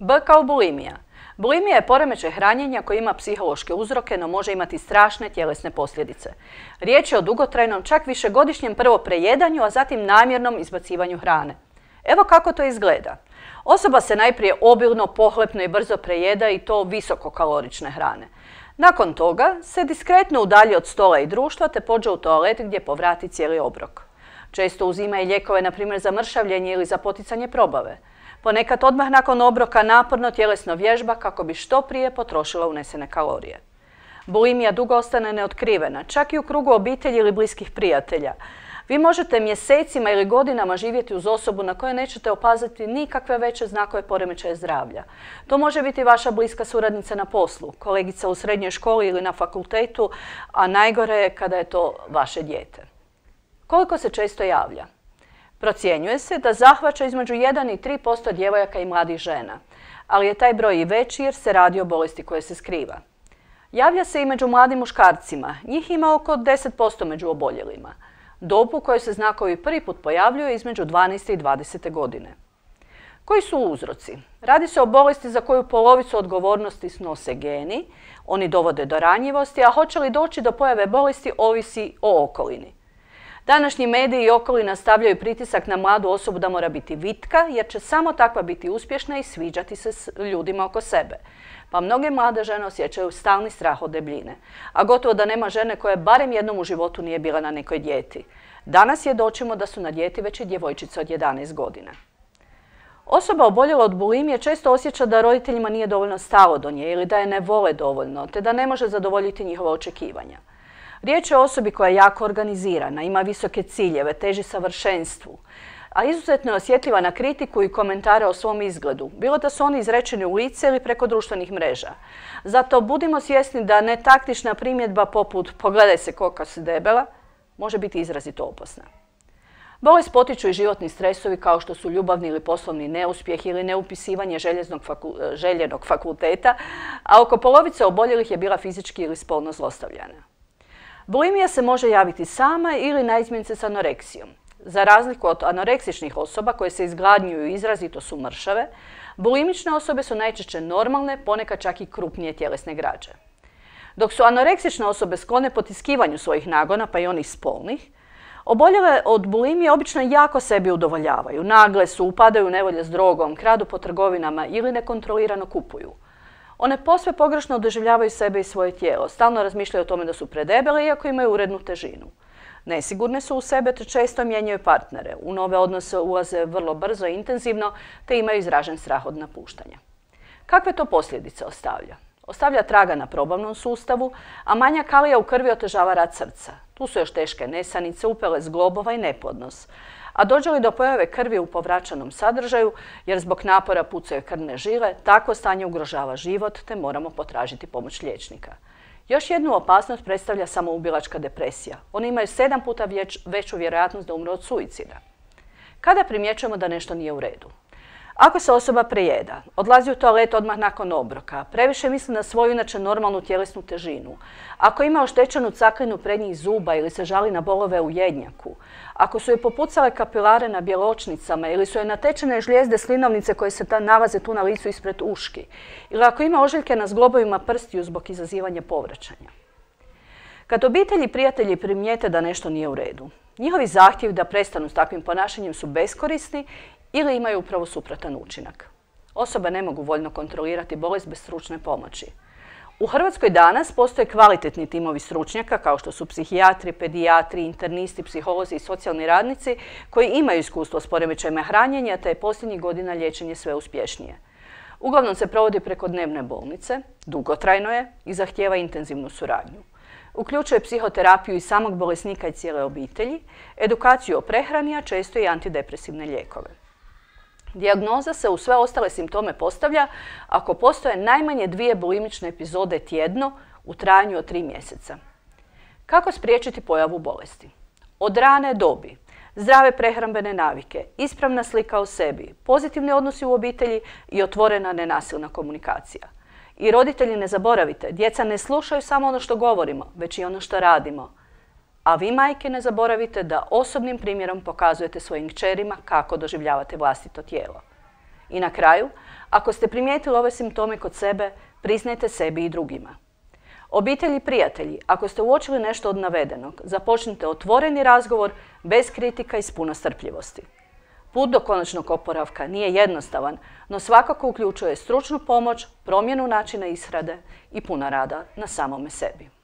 B kao bulimija. Bulimija je poremećaj hranjenja koji ima psihološke uzroke, no može imati strašne tjelesne posljedice. Riječ je o dugotrajnom, čak višegodišnjem prvo prejedanju, a zatim namjernom izbacivanju hrane. Evo kako to izgleda. Osoba se najprije obilno, pohlepno i brzo prejeda i to visokokalorične hrane. Nakon toga se diskretno udalji od stola i društva te pođe u toalet gdje povrati cijeli obrok. Često uzima i lijekove, na primjer za mršavljenje ili za poticanje probave. Ponekad odmah nakon obroka naporno tjelesno vježba kako bi što prije potrošila unesene kalorije. Bulimija dugo ostane neotkrivena, čak i u krugu obitelji ili bliskih prijatelja. Vi možete mjesecima ili godinama živjeti uz osobu na kojoj nećete opaziti nikakve veće znakove poremećaja zdravlja. To može biti vaša bliska suradnica na poslu, kolegica u srednjoj školi ili na fakultetu, a najgore je kada je to vaše dijete. Koliko se često javlja? Procjenjuje se da zahvaća između 1 i 3% djevojaka i mladih žena, ali je taj broj i veći jer se radi o bolesti koja se skriva. Javlja se i među mladim muškarcima, njih ima oko 10% među oboljelima. Dob u kojoj se znakovi prvi put pojavljuju između 12. i 20. godine. Koji su uzroci? Radi se o bolesti za koju polovicu odgovornosti snose geni, oni dovode do ranjivosti, a hoće li doći do pojave bolesti ovisi o okolini. Današnji mediji i okolina stavljaju pritisak na mladu osobu da mora biti vitka, jer će samo takva biti uspješna i sviđati se s ljudima oko sebe. Pa mnoge mlade žene osjećaju stalni strah od debljine, a gotovo da nema žene koja barem jednom u životu nije bila na nekoj dijeti. Danas svjedočimo da su na dijeti već i djevojčice od 11 godina. Osoba oboljela od bulimije često osjeća da roditeljima nije dovoljno stalo do nje ili da je ne vole dovoljno, te da ne može zadovoljiti njihova očekivanja. Riječ je o osobi koja je jako organizirana, ima visoke ciljeve, teži savršenstvu, a izuzetno je osjetljiva na kritiku i komentare o svom izgledu, bilo da su oni izrečeni u lice ili preko društvenih mreža. Zato budimo svjesni da netaktična primjedba poput "pogledaj se koliko si debela" može biti izrazito opasna. Bolest potiču i životni stresovi kao što su ljubavni ili poslovni neuspjeh ili neupisivanje željenog fakulteta, a oko polovice oboljelih je bila fizički ili spolno zlostavljana. Bulimija se može javiti sama ili naizmjence s anoreksijom. Za razliku od anoreksičnih osoba koje se izgladnjuju i izrazito su mršave, bulimične osobe su najčešće normalne, ponekad čak i krupnije tjelesne građe. Dok su anoreksične osobe sklone potiskivanju svojih nagona, pa i onih spolnih, oboljele od bulimije obično jako sebi udovoljavaju, nagle su, upadaju u nevolje s drogom, kradu po trgovinama ili nekontrolirano kupuju. One posve pogrešno doživljavaju sebe i svoje tijelo, stalno razmišljaju o tome da su predebele iako imaju urednu težinu. Nesigurne su u sebe te često mijenjaju partnere, u nove odnose ulaze vrlo brzo i intenzivno te imaju izražen strah od napuštanja. Kakve to posljedice ostavlja? Ostavlja traga na probavnom sustavu, a manja kalija u krvi otežava rad srca. Tu su još teške nesanice, upele zglobova i neplodnost. A dođe li do pojave krvi u povraćanom sadržaju, jer zbog napora pucaju krvne žile, takvo stanje ugrožava život te moramo potražiti pomoć liječnika. Još jednu opasnost predstavlja samoubilačka depresija. Oni imaju 7 puta veću vjerojatnost da umre od suicida. Kada primjećujemo da nešto nije u redu? Ako se osoba prejeda, odlazi u toalet odmah nakon obroka, previše misli na svoju inače normalnu tjelesnu težinu, ako ima oštećenu caklinu prednjih zuba ili se žali na bolove u jednjaku, ako su joj popucale kapilare na bjeločnicama ili su joj natečene žlijezde slinovnice koje se nalaze tu na licu ispred uški, ili ako ima ožiljke na zglobovima prstiju zbog izazivanja povraćanja. Kad obitelji i prijatelji primijete da nešto nije u redu, njihovi zahtjevi da prestanu s takvim ponašanjem su beskorisni ili imaju upravo suprotan učinak. Osobe ne mogu voljno kontrolirati bolest bez stručne pomoći. U Hrvatskoj danas postoje kvalitetni timovi stručnjaka kao što su psihijatri, pedijatri, internisti, psiholozi i socijalni radnici koji imaju iskustvo s poremećajima hranjenja te je posljednjih godina liječenje sve uspješnije. Uglavnom se provodi preko dnevne bolnice, dugotrajno je i zahtijeva intenzivnu suradnju. Uključuje psihoterapiju i samog bolesnika i cijele obitelji, edukaciju o prehrani, a često i antidepresivne lijekove. Dijagnoza se u sve ostale simptome postavlja ako postoje najmanje 2 bulimične epizode tjedno u trajanju od 3 mjeseca. Kako spriječiti pojavu bolesti? Od rane dobi, zdrave prehrambene navike, ispravna slika o sebi, pozitivni odnosi u obitelji i otvorena nenasilna komunikacija. I roditelji, ne zaboravite, djeca ne slušaju samo ono što govorimo, već i ono što radimo. A vi, majke, ne zaboravite da osobnim primjerom pokazujete svojim kćerima kako doživljavate vlastito tijelo. I na kraju, ako ste primijetili ove simptome kod sebe, priznajte sebi i drugima. Obitelji i prijatelji, ako ste uočili nešto od navedenog, započnite otvoreni razgovor bez kritika i s puno strpljivosti. Put do konačnog oporavka nije jednostavan, no svakako uključuje stručnu pomoć, promjenu načina ishrane i puno rada na samome sebi.